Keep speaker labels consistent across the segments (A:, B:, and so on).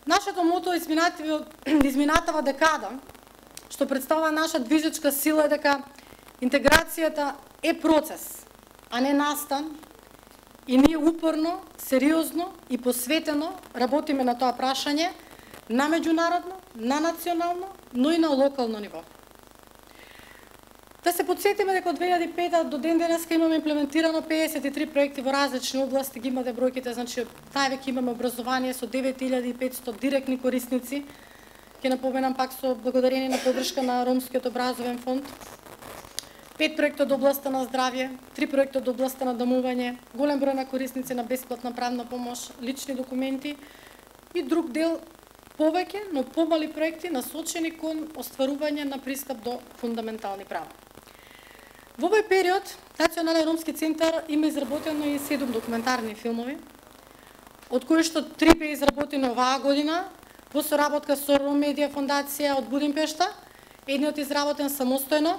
A: Нашето мото изминатава декада, што представува наша движечка сила, е дека интеграцијата е процес, а не настан, и ние упорно, сериозно и посветено работиме на тоа прашање на меѓународно, на национално, но и на локално ниво. Да се подсетиме дека од 2005 до ден денеска имаме имплементирано 53 проекти во различни области, ги имате бројките, значи највеќе имаме образование со 9500 директни корисници. Ќе напоменам пак со благодарение на поддршка на Ромскиот образовен фонд. 5 проекти од областта на здравје, 3 проекти од областта на домување, голем број на корисници на бесплатна правна помош, лични документи и друг дел повеќе, но помали проекти насочени кон остварување на пристап до фундаментални права. Во овој период, Национален ромски центар има изработено и 7 документарни филмови, од кои што 3 беа изработени оваа година во соработка со Ром Медија фондација од Будимпешта, едниот изработен самостојно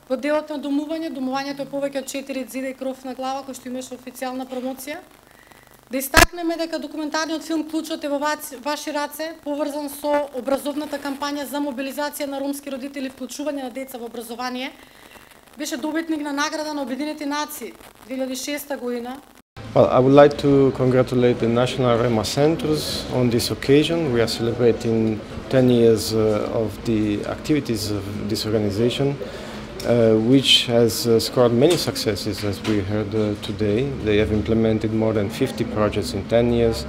A: во делот на домување. Домувањето е повеќе од 4 зида и кров на глава, кој што имаше официјална промоција. Да истакнеме дека документарниот филм Клучот е во ваши раце, поврзан со образовната кампања за мобилизација на ромски родители и вклучување на деца во образование, беше добитник на награда на Обединети нации 2006 година.
B: Well, I would like to congratulate the National Roma Centers on this occasion. We are celebrating 10 years of the activities of this organization, which has scored many successes, as we heard today. They have implemented more than 50 projects in 10 years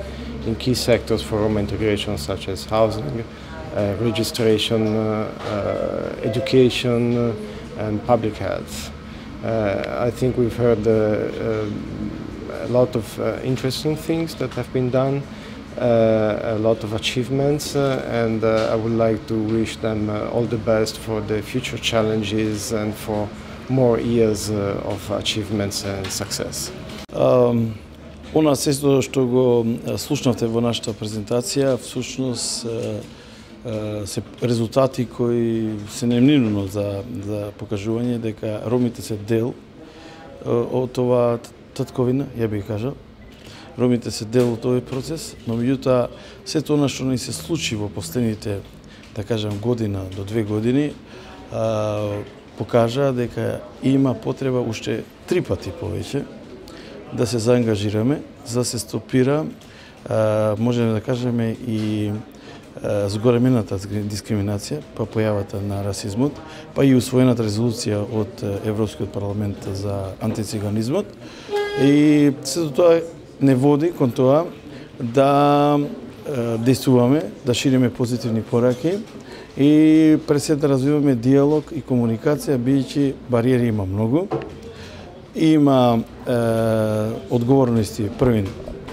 B: in key sectors for Roma integration, such as housing, registration, education, and public health. I think we've heard a lot of interesting things that have been done, a lot of achievements, and I would like to wish them all the best for the future challenges and for more years of achievements and success.
C: Она сето што го слушнавте во нашата презентација, всушност се резултати кои се немневно за покажување дека ромите се дел од оваа татковина, ја би кажал. Ромите се дел од овој процес, но меѓутоа сето она што ни се случи во последните, да кажам, година до 2 години, покажа дека има потреба уште 3 пати повеќе да се заангажираме, за да се стопира, можеме да кажеме, и зголемената дискриминација, па појавата на расизмот, па и усвоената резолуција од Европскиот парламент за антициганизмот. И сето тоа не води кон тоа да действуваме, да шириме позитивни пораки и пред се да развиваме диалог и комуникација, бидејќи бариери има многу. Има одговорности првин,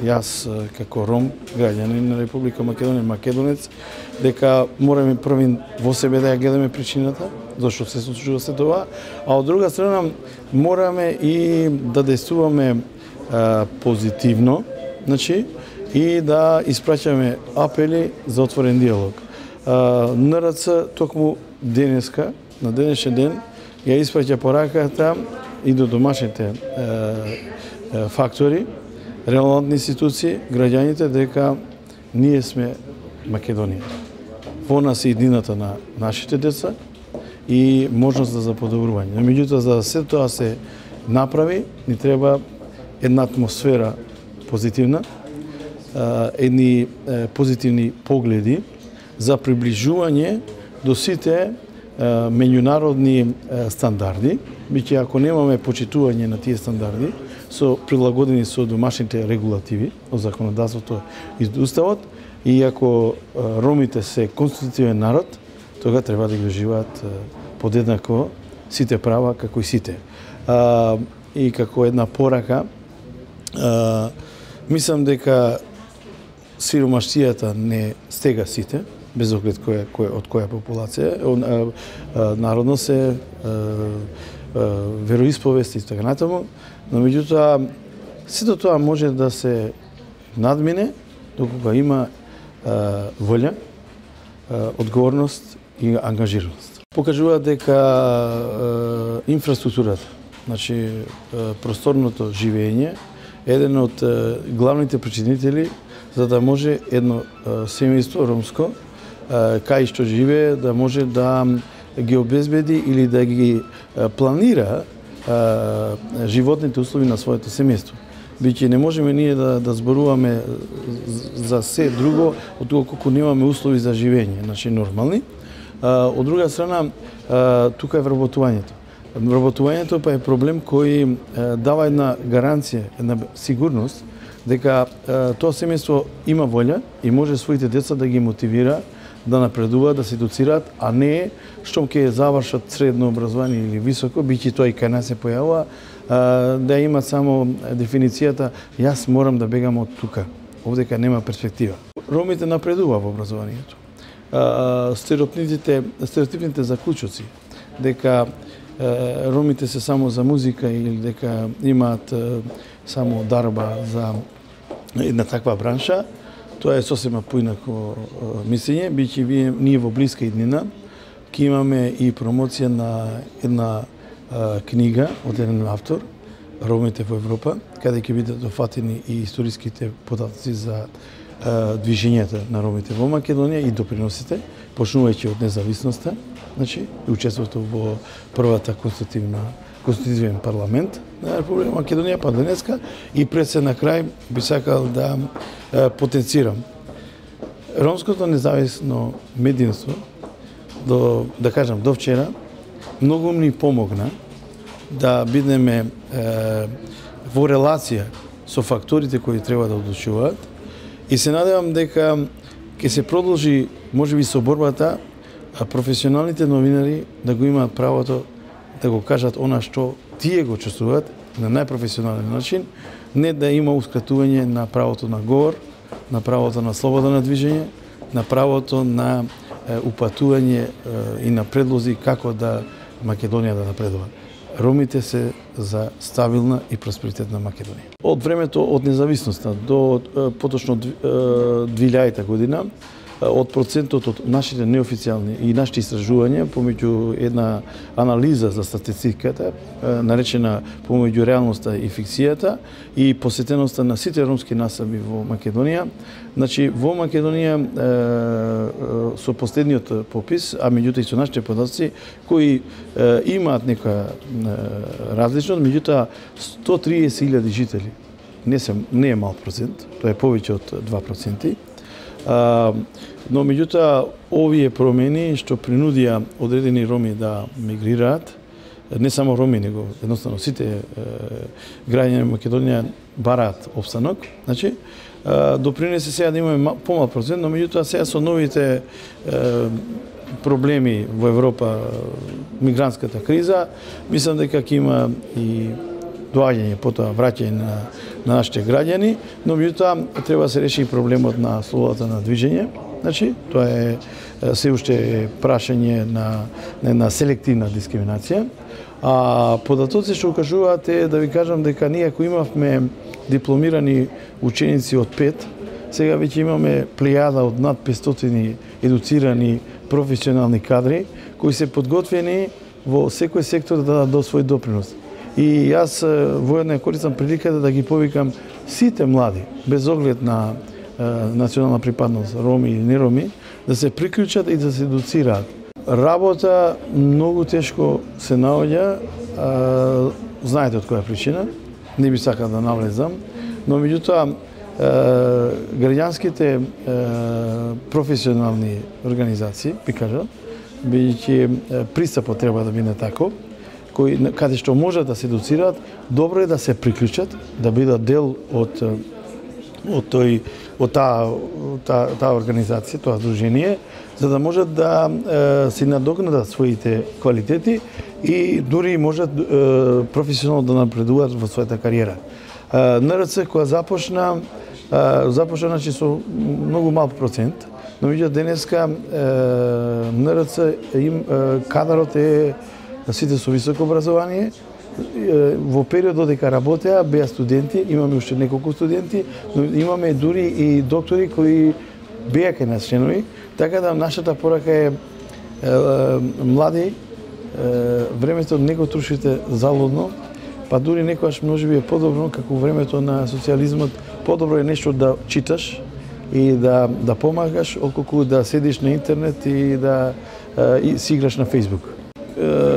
C: јас како ром, граѓанин на Република Македонија, македонец, дека мораме првин во себе да ја гледаме причината, зашто се случува се тоа, а од друга страна мораме и да действуваме позитивно, значи, и да испраќаме апели за отворен диалог. НРЦ токму денеска, на денешен ден, ја испраќа пораката и до домашните фактори, релевантни институции, граѓаните, дека ние сме Македонија. Во нас е иднината на нашите деца и можност за подобрување. Меѓутоа, за да се тоа се направи, ни треба една атмосфера позитивна, едни позитивни погледи за приближување до сите меѓународни стандарди, бидејќи ако немаме почитување на тие стандарди, со прилагодени со домашните регулативи од законодавството и уставот, и ако ромите се конститутивен народ, тога треба да ги уживаат подеднакво сите права како и сите. И како една порака, мислам дека сиромаштијата не стега сите, без оглед од која популација, народност е, вероисповест и така натаму, но меѓутоа сето тоа може да се надмине докога има волја, одговорност и ангажираност. Покажува дека инфраструктурата, значи просторното живење, еден од главните причинители за да може едно семејство ромско кај што живее да може да ги обезбеди или да ги планира животните услови на своето семејство. Биќе не можеме ние да зборуваме за се друго отколку немаме услови за живење, значи нормални. Од друга страна, тука е вработувањето. Вработувањето па е проблем кој дава една гаранција, една сигурност дека тоа семејство има волја и може своите деца да ги мотивира да напредуваат, да се едуцираат, а не штом ќе завршат средно образование или високо, биќе тоа и кај нас се појавува, да имат само дефиницијата јас морам да бегам од тука, овдека нема перспектива. Ромите напредува во образованието. Стереотипните заклучоци дека ромите се само за музика или дека имаат само дарба за една таква бранша, тоа е сосема поинако мислење, биќе ние во блиска иднина ќе имаме и промоција на една книга од еден автор, Ромите во Европа, каде ќе бидат дофатени и историските податоци за движењето на ромите во Македонија и доприносите, почнувајќи од независноста, значи, и учеството во првата конститутивен парламент на Република Македонија, па денеска, и пред се на крај би сакал да потенцирам. Ромското независно медиумство, да кажам, до вчера, многу ни помогна да бидеме во релација со факторите кои треба да одлучуваат и се надевам дека ќе се продолжи можеби со борбата професионалните новинари да го имаат правото да го кажат она што тие го чувствуваат на најпрофесионален начин, не да има ускратување на правото на говор, на правото на слобода на движење, на правото на упатување и на предлози како да Македонија да напредува. Ромите се за стабилна и просперитетна Македонија. Од времето од независноста до поточно 2000 година, од процентот од нашите неофицијални и нашите истражувања помеѓу една анализа за статистиката, наречена помеѓу реалноста и фикцијата и посетеноста на сите ромски насаби во Македонија. Значи, во Македонија со последниот попис, а меѓутоа и со нашите податоци, кои имаат нека различност, меѓутоа 130.000 жители. Не е мал процент, тоа е повеќе од 2%. Но меѓутоа овие промени што принудија одредени роми да мигрираат, не само роми, него едноставно сите граѓани на Македонија бараат опстанок, значи допринесе сега да имаме помал процент, но меѓутоа сега со новите проблеми во Европа, мигрантската криза, мислам дека ќе има и доаѓање, потоа враќање на нашите граѓани, но меѓутоа треба да се реши и проблемот на слободата на движење. Значи, тоа е се уште прашање на селективна дискриминација. А податоци што укажуваат е да ви кажам дека ние ако имавме дипломирани ученици од 5, сега веќе имаме плејада од над 500 едуцирани професионални кадри кои се подготвени во секој сектор да дадат свој допринос. И јас воедно користам приликата да ги повикам сите млади, без оглед на национална припадност, роми или не роми, да се приклучат и да се едуцираат. Работа многу тешко се наоѓа, знаете од која причина, не би сакал да навлезам, но меѓутоа граѓанските професионални организации, би кажал, бидејќи пристапот треба да биде таков, каде што можат да се едуцираат, добро е да се приклучат, да бидат дел од таа организација, тоа здружение, за да можат да си надокнадат своите квалитети и дури можат професионално да напредуваат во својата кариера. НРЦ која започна значи со многу мал процент, но меѓутоа денеска НРЦ кадарот е сите со високо образование. Во периодот дека работеа беа студенти, имаме уште неколку студенти, но имаме дури и доктори кои беа кај нас членови, така да нашата порака е млади, времето не го трошите залудно, па дури некогаш можеби е подобро, како времето на социјализмот, подобро е нешто да читаш, и да помагаш, отколку да седиш на интернет и да си играш на Facebook.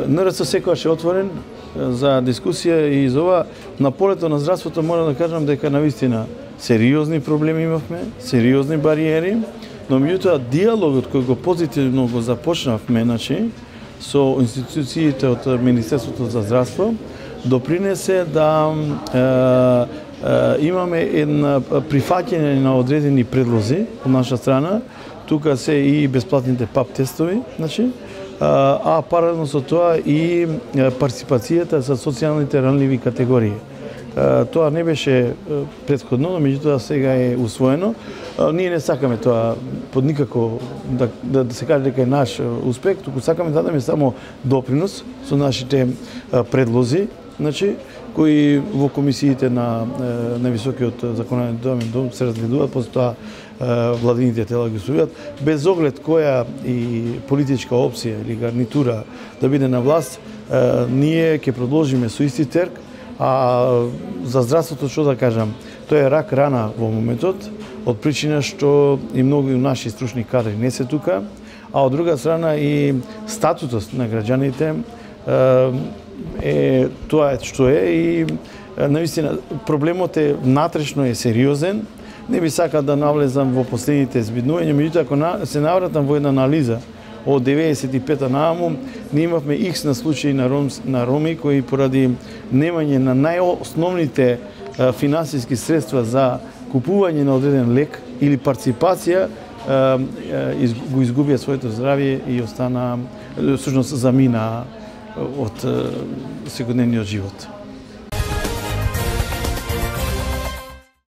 C: НРЦ секогаш е отворен за дискусија и за ова. На полето на здравството морам да кажам дека навистина сериозни проблеми имавме, сериозни бариери, но меѓутоа диалогот кој го позитивно го започнавме, со институциите од Министерството за здравство, допринесе да имаме една прифаќање на одредени предлози од наша страна. Тука се и бесплатните ПАП тестови, а паралелно со тоа и партиципацијата за социјалните ранливи категории. Тоа не беше претходно, но меѓутоа сега е усвоено. Ние не сакаме тоа под никако да се каже дека е наш успех, туку сакаме да дадеме само допринос со нашите предлози, кои во комисиите на високиот законодателен дом се разгледуваат, после тоа владините тела ги усвојуваат, без оглед која и политичка опција или гарнитура да биде на власт, ние ќе продолжиме со исти терк. А за здравството што да кажам, тоа е рак рана во моментот, од причина што и многу наши стручни кадри не се тука, а од друга страна и статутот на граѓаните е тоа што е и наистина проблемот е внатрешно е сериозен. Не би сакал да навлезам во последните збиднувања, меѓутоа ако се навратам во една анализа од 95-та нааму, ние имавме икс на случаи на роми кои поради немање на најосновните финансиски средства за купување на одреден лек или партиципација го изгубија своето здравје и остана, всушност замина од секојдневниот живот.